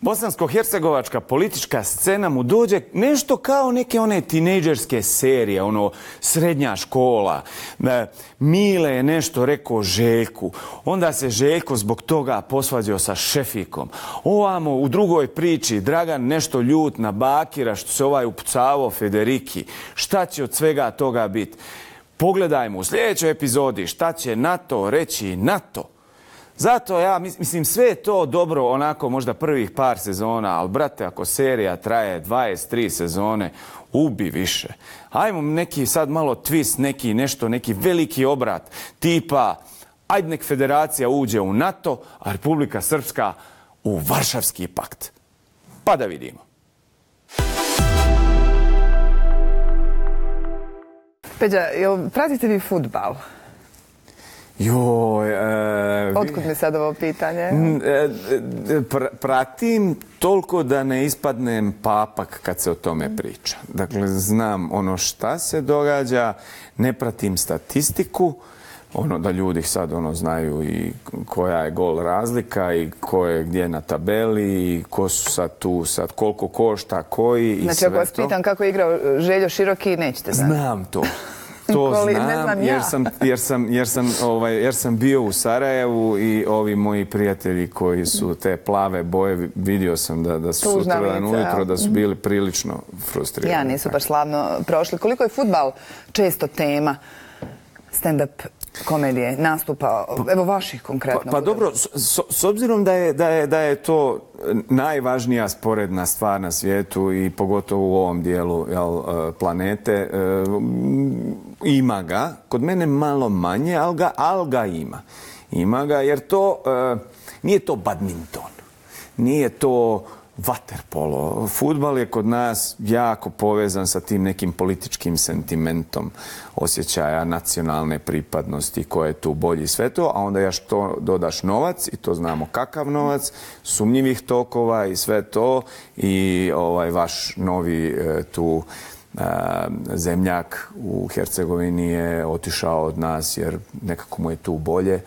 Bosansko-hercegovačka politička scena mu dođe nešto kao neke one tinejdžerske serije, ono srednja škola. Mile je nešto rekao Željku, onda se Željko zbog toga posvađao sa Šefikom. Ovamo u drugoj priči Dragan nešto ljut na Bakira što se ovaj upucavao Federiki. Šta će od svega toga biti? Pogledajmo u sljedećoj epizodi šta će NATO reći NATO. Zato ja mislim sve je to dobro onako možda prvih par sezona, ali brate ako serija traje dvadeset tri sezone, ubi više. Ajmo neki sad malo twist, neki nešto, neki veliki obrat tipa ajde nek federacija uđe u NATO, a Republika Srpska u Varšavski pakt. Pa da vidimo. Peđa, jel pratite vi fudbal? Joj... E, Otkud mi sad ovo pitanje? E, pr pratim toliko da ne ispadnem papak kad se o tome priča. Dakle, znam ono šta se događa, ne pratim statistiku, ono da ljudi sad ono znaju i koja je gol razlika i ko je gdje na tabeli i ko su sad tu, sad koliko košta, koji i sve to. Znači, ako vas pitam kako je igrao Željo Široki, nećete znati. Znam to. To Koli, znam, ne znam jer ja. sam, jer, sam, jer, sam, ovaj, jer sam bio u Sarajevu i ovi moji prijatelji koji su te plave boje, vidio sam da, da su sutradan ujutro da su bili prilično frustrirani. Ja, nisu baš slavno prošli. Koliko je fudbal često tema stand-up komedije, nastupa, evo vaših konkretno? Pa, pa dobro, s, s obzirom da je, da, je, da je to najvažnija sporedna stvar na svijetu i pogotovo u ovom dijelu jel, planete, ima ga, kod mene malo manje, ali ga, ali ga ima. Ima ga jer to, nije to badminton, nije to vaterpolo. Fudbal je kod nas jako povezan sa tim nekim političkim sentimentom osjećaja nacionalne pripadnosti, ko je tu bolji sve to, a onda još to dodaš novac i to znamo kakav novac, sumnjivih tokova i sve to i ovaj vaš novi e, tu e, zemljak u Hercegovini je otišao od nas jer nekako mu je tu bolje.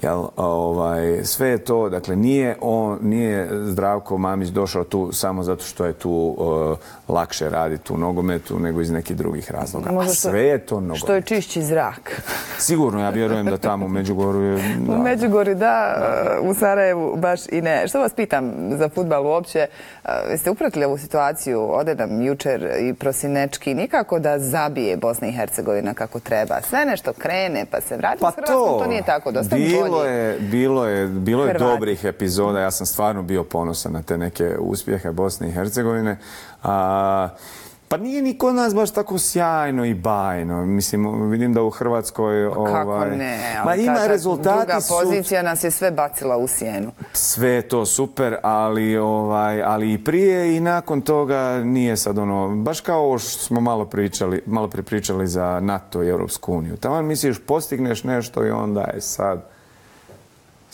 Jel, ovaj, sve je to, dakle, nije, on, nije Zdravko Mamić došao tu samo zato što je tu uh, lakše raditi u nogometu nego iz nekih drugih razloga. Možda a sve je to nogomet. Što je čišći zrak. Sigurno, ja vjerujem da tamo u Međugorju je... Da. U Međugorju da, u Sarajevu baš i ne. Što vas pitam za fudbal uopće? Jeste upratili ovu situaciju? Ode nam jučer i Prosinečki nikako da zabije Bosna i Hercegovina kako treba. Sve nešto krene pa se vrati pa s Hrvatskom, to, to nije tako. Dosta bilo je, bilo je, bilo je dobrih epizoda. Ja sam stvarno bio ponosan na te neke uspjehe Bosne i Hercegovine. A, pa nije ni kod nas baš tako sjajno i bajno. Mislim, vidim da u Hrvatskoj... Kako ovaj, ne? Ma ima ta, ta rezultati druga su... pozicija nas je sve bacila u sjenu. Sve je to super, ali, ovaj, ali i prije i nakon toga nije sad ono... Baš kao ovo što smo malo pričali, malo pripričali za NATO i Europsku uniju. Tamo misliš, postigneš nešto i onda je sad...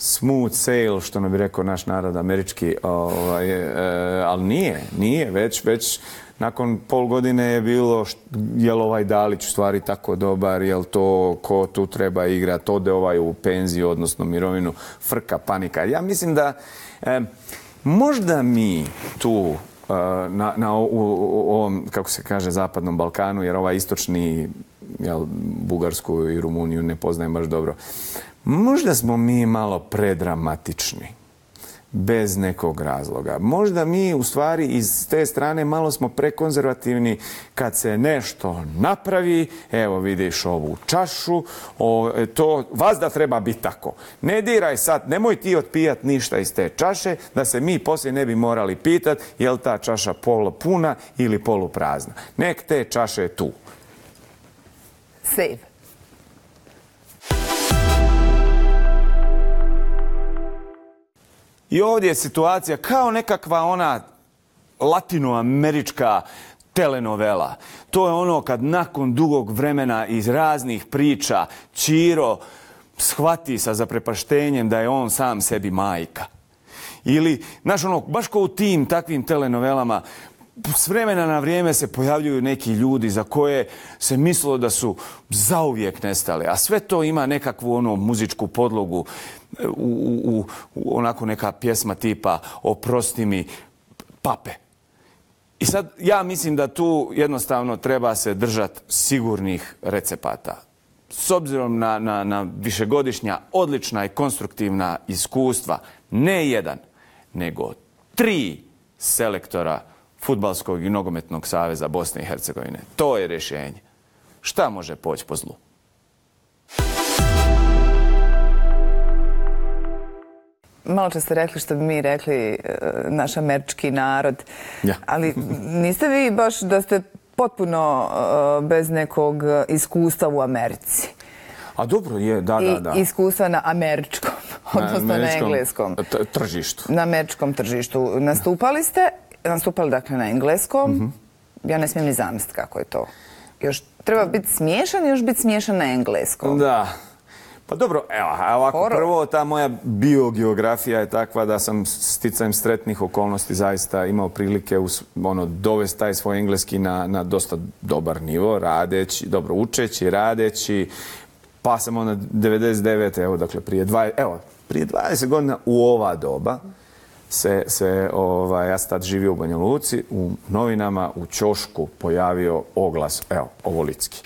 smooth sail, što ne bi rekao naš narod američki, ovaj, e, ali nije, nije, već, već nakon pol godine je bilo je li ovaj Dalić u stvari tako dobar, je li to ko tu treba igrati, ode ovaj u penziju, odnosno mirovinu, frka, panika. Ja mislim da e, možda mi tu na, na u, u ovom, kako se kaže, zapadnom Balkanu, jer ovaj istočni, jel, Bugarsku i Rumuniju ne poznajem baš dobro, možda smo mi malo predramatični, bez nekog razloga. Možda mi u stvari iz te strane malo smo prekonzervativni kad se nešto napravi, evo vidiš ovu čašu, o, to vas da treba biti tako. Ne diraj sad, nemoj ti otpijat ništa iz te čaše, da se mi poslije ne bi morali pitat je li ta čaša polupuna ili poluprazna. Nek te čaše tu. Save. I ovdje je situacija kao nekakva ona latinoamerička telenovela. To je ono kad nakon dugog vremena iz raznih priča Ćiro shvati sa zaprepaštenjem da je on sam sebi majka. Ili, znaš ono, baš kao u tim takvim telenovelama, s vremena na vrijeme se pojavljuju neki ljudi za koje se mislilo da su zauvijek nestali, a sve to ima nekakvu ono muzičku podlogu, u, u, u onako neka pjesma tipa Oprosti mi pape. I sad ja mislim da tu jednostavno treba se držati sigurnih recepata. S obzirom na, na, na višegodišnja odlična i konstruktivna iskustva, ne jedan, nego tri selektora Fudbalskog i nogometnog saveza Bosne i Hercegovine. To je rješenje. Šta može poći po zlu? malo čas ste rekli što bi mi rekli naš američki narod, ja. Ali niste vi baš da ste potpuno bez nekog iskustva u Americi? A dobro je, da, da, da. I iskustva na američkom, odnosno na, na engleskom. Tržištu. Na američkom tržištu. Nastupali ste, nastupali dakle na engleskom. Mm-hmm. Ja ne smijem ni zamisliti kako je to. Još treba biti smiješan i još biti smiješan na engleskom. Da. Pa dobro, evo, ovako, Horor. Prvo ta moja biogeografija je takva da sam sticajem sretnih okolnosti zaista imao prilike us, ono, dovesti taj svoj engleski na, na dosta dobar nivo, radeći, dobro učeći, radeći, pa sam onda devedeset devete evo, dakle, prije, dva, evo, prije dvadeset godina u ova doba se, se ovaj, ja sam tad živio u Banja Luci, u novinama, u ćošku pojavio oglas, evo, ovolicki.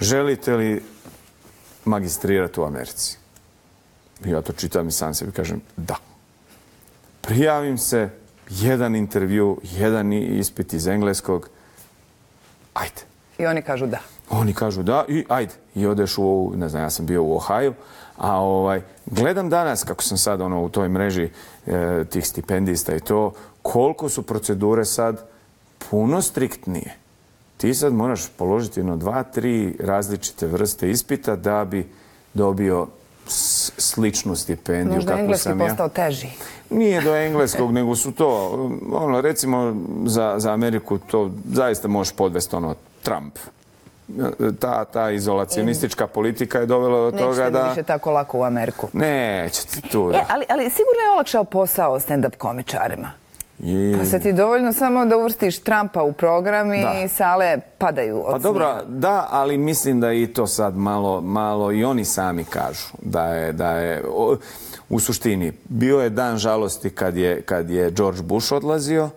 Želite li magistrirati u Americi? Ja to čitam i sam sebi kažem da. Prijavim se, jedan intervju, jedan ispit iz engleskog, ajde. I oni kažu da. Oni kažu da i ajde. I odeš u, ne znam, ja sam bio u Ohio, a ovaj, gledam danas, kako sam sad ono, u toj mreži e, tih stipendista i to, koliko su procedure sad puno striktnije. Ti sad moraš položiti no dva, tri različite vrste ispita da bi dobio sličnu stipendiju. Možda kako engleski sam ja. Postao teži. Nije do engleskog, nego su to, ono, recimo za, za Ameriku to zaista možeš podvesti ono Trump. Ta, ta izolacionistička politika je dovela do Nećete toga da... Nećete više tako lako u Ameriku. Nećete tu, da. E, ali, ali sigurno je olakšao posao stand-up komičarima. I... Pa se ti dovoljno samo da uvrstiš Trumpa u program i da. Sale padaju od Pa dobro, da, ali mislim da i to sad malo, malo i oni sami kažu da je, da je o, u suštini bio je dan žalosti kad je, kad je George Bush odlazio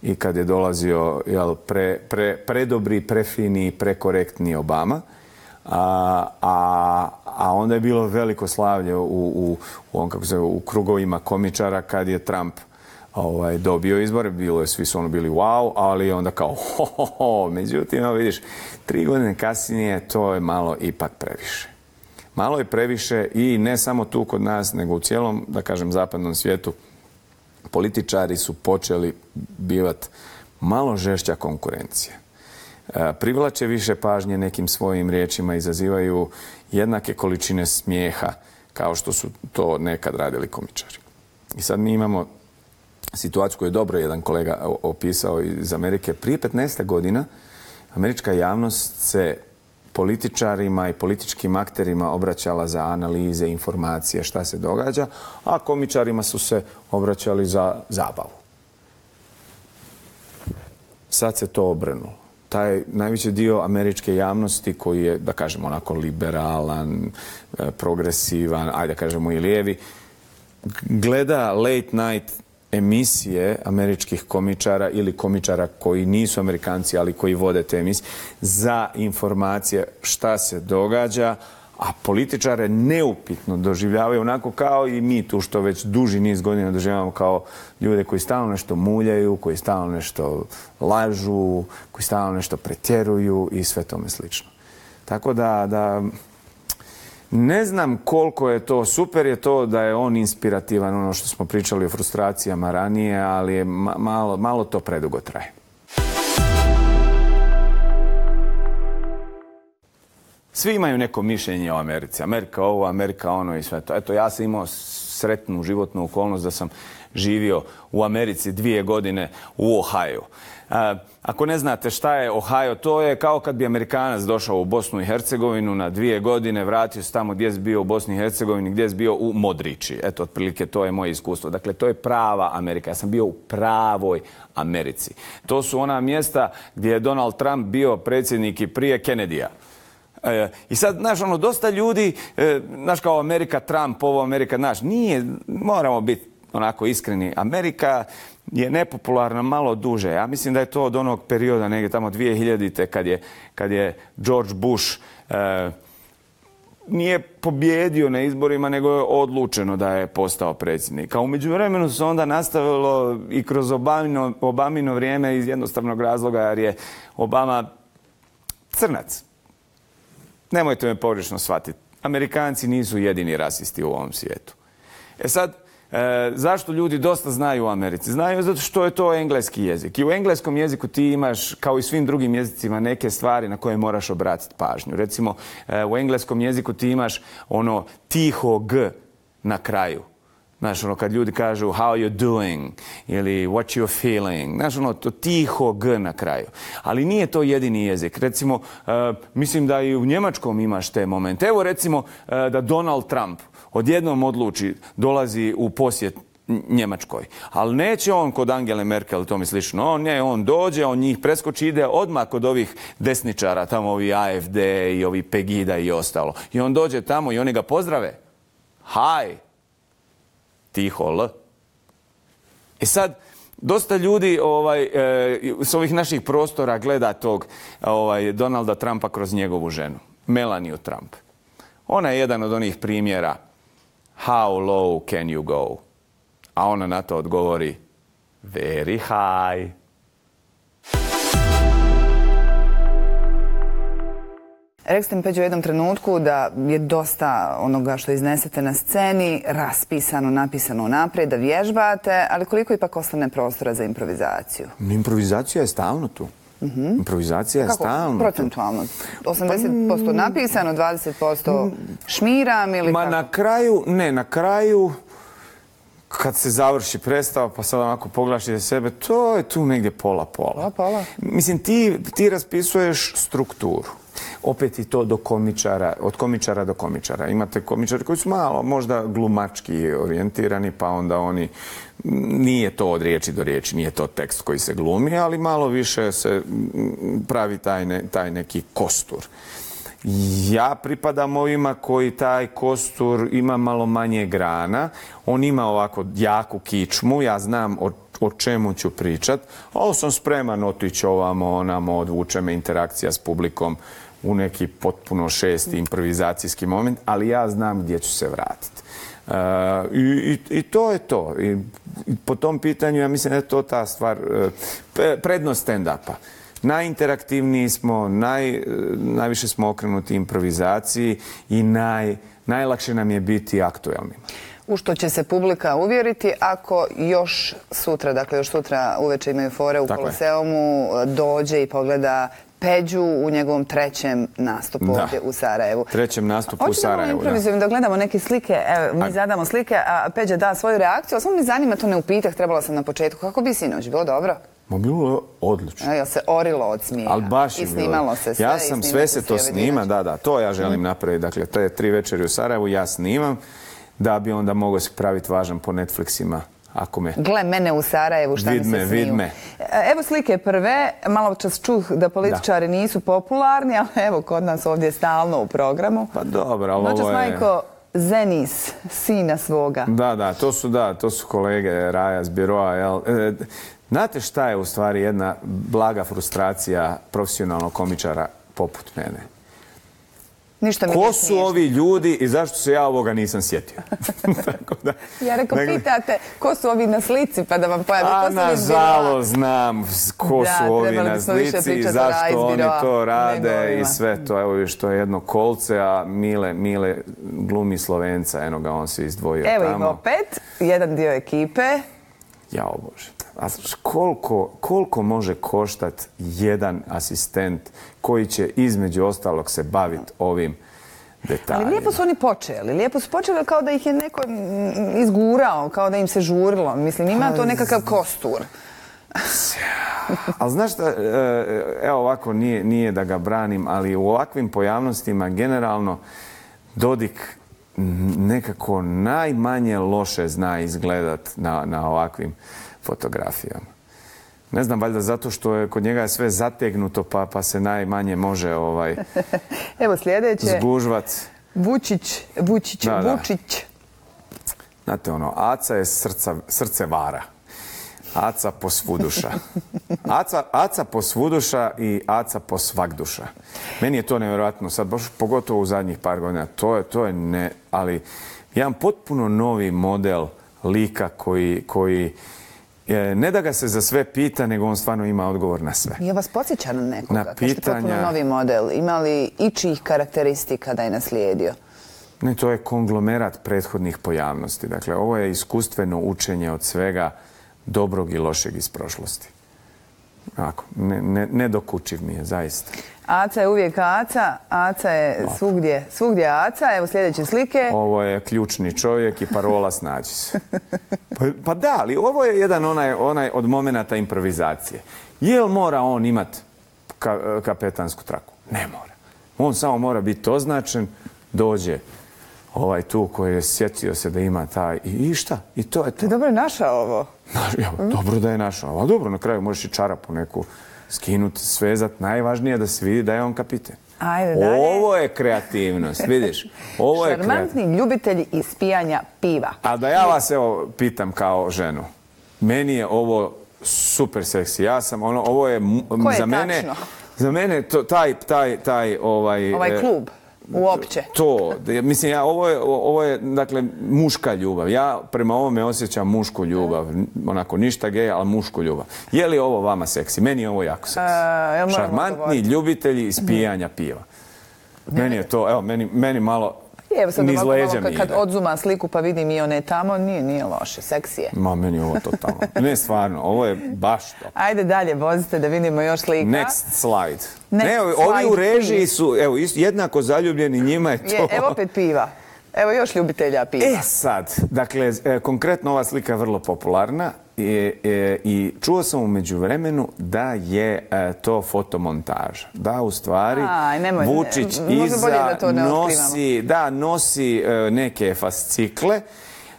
i kad je dolazio jel, pre, pre, predobri, prefini, prekorektni Obama. A, a, a onda je bilo veliko slavlje u, u, u, on, kako se, u krugovima komičara kad je Trump ovaj, dobio izbore. Bilo je, svi su ono bili wow, ali onda kao ho, ho, ho. Međutim, evo vidiš, tri godine kasnije to je malo ipak previše. Malo je previše i ne samo tu kod nas, nego u cijelom, da kažem, zapadnom svijetu. Političari su počeli bivati malo žešća konkurencija. Privlače više pažnje nekim svojim riječima, izazivaju jednake količine smijeha kao što su to nekad radili komičari. I sad mi imamo situaciju koju je dobro jedan kolega opisao iz Amerike. Prije petnaest godina američka javnost se političarima i političkim akterima obraćala za analize, informacije, šta se događa, a komičarima su se obraćali za zabavu. Sad se to obrnulo. Taj najveći dio američke javnosti koji je, da kažemo, onako liberalan, progresivan, ajde da kažemo i lijevi, gleda late night emisije američkih komičara ili komičara koji nisu Amerikanci, ali koji vode te emisije, za informacije šta se događa, a političare neupitno doživljavaju onako kao i mi tu što već duži niz godina doživljavamo kao ljude koji stalno nešto muljaju, koji stalno nešto lažu, koji stalno nešto pretjeruju i sve tome slično. Tako da, da ne znam koliko je to, super je to da je on inspirativan, ono što smo pričali o frustracijama ranije, ali je malo, malo to predugo traje. Svi imaju neko mišljenje o Americi. Amerika ovo, Amerika ono i sve to. Eto, ja sam imao sretnu životnu okolnost da sam živio u Americi dvije godine u Ohio. Ako ne znate šta je Ohio, to je kao kad bi Amerikanac došao u Bosnu i Hercegovinu na dvije godine, vratio se tamo gdje je bio u Bosni i Hercegovini, gdje je bio u Modriči. Eto, otprilike, to je moje iskustvo. Dakle, to je prava Amerika. Ja sam bio u pravoj Americi. To su ona mjesta gdje je Donald Trump bio predsjednik i prije Kennedyja. E, I sad, znaš, ono, dosta ljudi, e, znaš, kao Amerika, Trump, ovo Amerika, znaš, nije, moramo biti onako iskreni. Amerika je nepopularna malo duže. Ja mislim da je to od onog perioda, negdje tamo dvije hiljadite, kad je, kad je George Bush e, nije pobjedio na izborima, nego je odlučeno da je postao predsjednik. A u međuvremenu se onda nastavilo i kroz Obamino, Obamino vrijeme iz jednostavnog razloga, jer je Obama crnac. Nemojte me pogrešno shvatiti. Amerikanci nisu jedini rasisti u ovom svijetu. E sad, E, zašto ljudi dosta znaju u Americi? Znaju zato što je to engleski jezik. I u engleskom jeziku ti imaš, kao i svim drugim jezicima, neke stvari na koje moraš obratiti pažnju. Recimo, e, u engleskom jeziku ti imaš ono tiho g na kraju. Znaš, ono, kad ljudi kažu how you doing ili what you feeling, znaš, ono, to tiho g na kraju. Ali nije to jedini jezik. Recimo, uh, mislim da i u njemačkom imaš te momente. Evo, recimo, uh, da Donald Trump odjednom odluči, dolazi u posjet Njemačkoj. Ali neće on kod Angele Merkel, to mi slično. On, ne, on dođe, on njih preskoči, ide odmah kod ovih desničara, tamo ovi A F D i ovi Pegida i ostalo. I on dođe tamo i oni ga pozdrave. Hi! Tiho L. I sad, dosta ljudi ovaj, e, s ovih naših prostora gleda tog ovaj, Donalda Trumpa kroz njegovu ženu, Melaniju Trump. Ona je jedan od onih primjera how low can you go? A ona na to odgovori very high. Rekli ste mi, Peđo, u jednom trenutku da je dosta onoga što iznesete na sceni raspisano, napisano naprijed, da vježbate, ali koliko ipak ostane prostora za improvizaciju? Improvizacija je stalno tu. Mm-hmm. Improvizacija je Kako? stalno. Procentualno? osamdeset posto napisano, dvadeset posto šmiram ili Ma kako? na kraju, ne, na kraju, kad se završi predstava, pa sad onako pogledaš iza sebe, to je tu negdje pola-pola. Pola-pola. Mislim, ti, ti raspisuješ strukturu. Opet i to do komičara, od komičara do komičara. Imate komičari koji su malo možda glumački orijentirani, pa onda oni, nije to od riječi do riječi, nije to tekst koji se glumi, ali malo više se pravi taj, ne, taj neki kostur. Ja pripadam ovima koji taj kostur ima malo manje grana. On ima ovako jaku kičmu, ja znam o, o čemu ću pričat, ali sam spreman otići ovamo, onamo, odvuče me interakcija s publikom u neki potpuno šesti improvizacijski moment, ali ja znam gdje ću se vratiti. Uh, i, i, I to je to. I, i po tom pitanju ja mislim da je to ta stvar, uh, prednost stand-upa. Najinteraktivniji smo, naj, najviše smo okrenuti improvizaciji i naj, najlakše nam je biti aktuelni. U što će se publika uvjeriti ako još sutra, dakle još sutra uveče imaju fore u Koloseumu, dođe i pogleda Peđu u njegovom trećem nastupu da. ovdje u Sarajevu. Trećem nastupu u Sarajevu, da. Hoćemo da da gledamo neke slike, evo, mi zadamo slike, a Peđa da svoju reakciju, ali samo mi zanima to ne upitah, trebala sam na početku. Kako bi sinoć, bilo dobro? Ma bilo je odlično. Jel se orilo od smijeha? Ali baš je I snimalo se sve. Ja sam, sve se to snima, da, da, to ja želim napraviti. Dakle, te tri večeri u Sarajevu ja snimam, da bi onda mogao se praviti važan po Netflixima. Ako me... Gle mene u Sarajevu, šta mi se sniju. Vid me. Evo slike prve. Malo čas čuh da političari da. nisu popularni, ali evo kod nas ovdje stalno u programu. Pa dobro, ali Noćas ovo je... majko Zenis, sina svoga. Da, da, to su, da, to su kolege Raja s biroa, jel? E, znate šta je u stvari jedna blaga frustracija profesionalnog komičara poput mene? Ništa mi Ko su ovi ljudi i zašto se ja ovoga nisam sjetio? Tako da, ja rekao, dakle, pitate ko su ovi na slici pa da vam pojavi. A nažalost znam ko da, su ovi na slici i zašto oni to rade i sve to. Evo što je jedno kolce, a Mile, Mile glumi Slovenca, eno ga on se izdvojio evo tamo. Evo im opet, jedan dio ekipe. Jao Bože. A koliko, koliko može koštati jedan asistent koji će između ostalog se baviti ovim detaljima? Ali lijepo su oni počeli. Lijepo su počeli kao da ih je neko izgurao, kao da im se žurilo. Mislim, ima to nekakav kostur. Ali znaš šta, evo ovako, nije, nije da ga branim, ali u ovakvim pojavnostima generalno Dodik nekako najmanje loše zna izgledat na, na ovakvim fotografijama. Ne znam, valjda zato što je kod njega sve zategnuto pa, pa se najmanje može ovaj, evo sljedeće. Zgužvat. Vučić, Vučić, da, da. Vučić. Znate ono, Aca je srca, srce vara. Aca posvuduša. Aca, Aca posvuduša i Aca posvagduša. Meni je to nevjerojatno sad, baš pogotovo u zadnjih par godina. To je, to je ne, ali jedan potpuno novi model lika koji, koji ne da ga se za sve pita, nego on stvarno ima odgovor na sve. Je vas podsjeća na nekoga? Na pitanja... potpuno novi model. Ima li ičijih karakteristika da je naslijedio? Ne, to je konglomerat prethodnih pojavnosti. Dakle, ovo je iskustveno učenje od svega dobrog i lošeg iz prošlosti. Ako, ne, ne, nedokučiv mi je, zaista. Aca je uvijek Aca, Aca je svugdje, svugdje Aca. Evo sljedeće slike. Ovo je ključni čovjek i parola snađi se. Pa, pa da, ali ovo je jedan onaj, onaj od momenata improvizacije. Jel mora on imat ka, kapetansku traku? Ne mora. On samo mora biti označen, dođe ovaj tu koji je sjetio se da ima taj i, i šta? I to je to. Ti dobro je našao ovo. Evo, mm. Dobro da je našao. A dobro, na kraju možeš i čarapu neku skinuti, svezat. Najvažnije je da se vidi da je on kapiten. Ajde, dalje. Ovo je kreativnost, vidiš? Ovo je šarmantni ljubitelji ispijanja piva. A da ja vas evo pitam kao ženu. Meni je ovo super seksi. Ja sam, ono, ovo je, Ko je za mene, tačno? Za mene to, taj, taj, taj, ovaj... Ovaj klub. Uopće. To, mislim, ja, ovo je, ovo je, dakle, muška ljubav. Ja prema ovome osjećam mušku ljubav. Onako, ništa gej, ali mušku ljubav. Je li ovo vama seksi? Meni je ovo jako seksi. Uh, Šarmantni ljubitelji ispijanja piva. Meni je to, evo, meni, meni malo... Evo sad niz ovako leđa malo, mi kad ide. odzuma sliku pa vidim i one tamo, nije, nije loše, seksi je. Ma, meni je ovo totalno. Ne, stvarno, ovo je baš to. Ajde dalje, vozite da vidimo još slika. Next slide. Next ne, ovi slide, u režiji su, evo, jednako zaljubljeni, njima je to... Je, evo opet piva. Evo još ljubitelja piva. E sad, dakle, konkretno ova slika je vrlo popularna i, i, i čuo sam u međuvremenu da je to fotomontaža. Da, u stvari, Aj, nemoj, Vučić ne, iza da to ne nosi, da, nosi neke fascikle,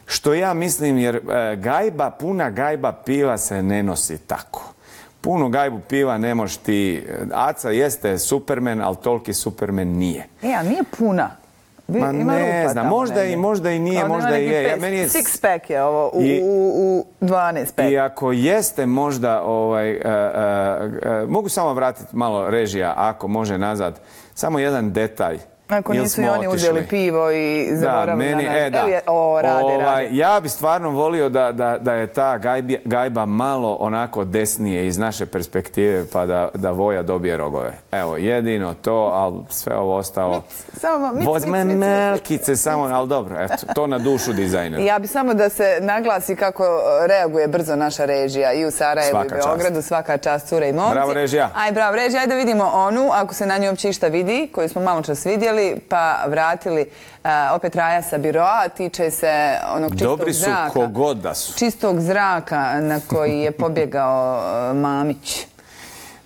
što ja mislim, jer gajba, puna gajba piva se ne nosi tako. Punu gajbu piva ne možeš ti... Aca jeste Superman, ali toliki Superman nije. E, a nije puna. Ma ne znam, možda i, možda i nije, možda i je. Ja, meni je... Six pack je ovo u, I, u, u dvanaest pack. I ako jeste možda, ovaj, uh, uh, uh, mogu samo vratiti malo režija, ako može nazad, samo jedan detalj. Ako nisu i oni uzeli pivo i zaboravili da, meni, na nas. E, da. Je, o, rade, ovaj, rade. Ja bi stvarno volio da, da, da je ta gajbi, gajba malo onako desnije iz naše perspektive, pa da, da Voja dobije rogove. Evo, jedino to, ali sve ovo ostalo... Samo, mic, Vozme mic, mic, melkice samo, ali dobro, eto, to na dušu dizajnera. Ja bi samo da se naglasi kako reaguje brzo naša režija i u Sarajevu svaka i Beogradu. Čast. Svaka čast, cure i momci. Bravo, režija. Aj, bravo, režija. Ajde da vidimo onu, ako se na njoj uopće išta vidi, koju smo malo čas vidjeli, pa vratili uh, opet Raja sa biroa, tiče se onog čistog Dobri su zraka. kogod da su. Čistog zraka na koji je pobjegao uh, Mamić.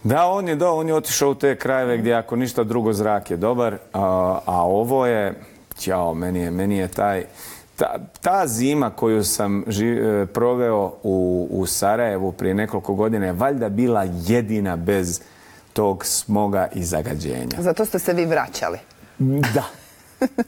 Da, on je, da, on je otišao u te krajeve gdje ako ništa drugo zrak je dobar, a, a ovo je, ćao, meni je, meni je taj, ta, ta zima koju sam ži, proveo u, u Sarajevu prije nekoliko godina je valjda bila jedina bez tog smoga i zagađenja. Zato ste se vi vraćali. Da.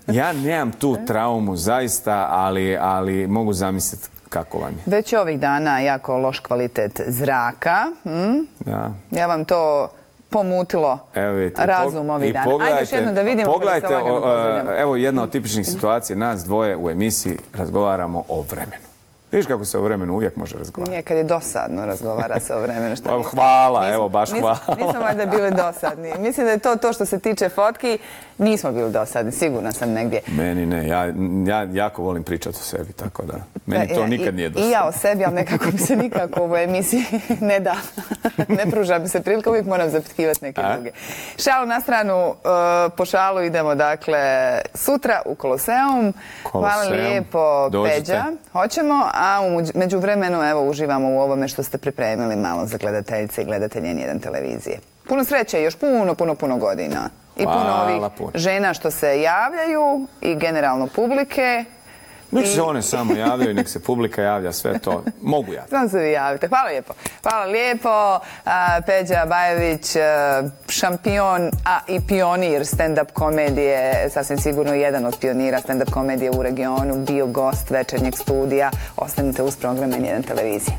Ja nemam tu traumu zaista, ali, ali mogu zamisliti kako vam je. Već ovih dana jako loš kvalitet zraka. Hm? Da. Ja vam to pomutilo evo vidite, razum ovih dana. Ajde još jedno da vidimo. Pogledajte, o, evo jedna od tipičnih situacija. Nas dvoje u emisiji razgovaramo o vremenu. Vidiš kako se o vremenu uvijek može razgovarati? Nije, kad je dosadno razgovara se o vremenu. Šta hvala, nismo, evo, baš hvala. Nismo, nismo valjda bili dosadni. Mislim da je to to što se tiče fotki. Nismo bili dosadni, sigurna sam negdje. Meni ne, ja, ja jako volim pričati o sebi, tako da meni to nikad nije dosadno. I ja o sebi, ali nekako mi se nikako u ovoj emisiji ne da. Ne pruža mi se prilika, uvijek moram zapitkivati neke A? druge. Šalu na stranu, uh, po šalu idemo, dakle, sutra u Koloseum. Koloseum. Hvala lijepo, Dođite. Peđa. Hoćemo, a u međuvremenu, evo, uživamo u ovome što ste pripremili malo za gledateljice i gledatelje N jedan televizije. Puno sreće, još puno, puno, puno godina. I puno Hvala, ovih puno. žena što se javljaju i generalno publike. Nek se one samo javljaju, nek se publika javlja, sve to. Mogu ja. Samo se vi javite. Hvala lijepo. Hvala lijepo. Peđa Bajević, šampion, a i pionir stand-up komedije, sasvim sigurno jedan od pionira stand-up komedije u regionu, bio gost večernjeg studija. Ostanite uz program N jedan televizije.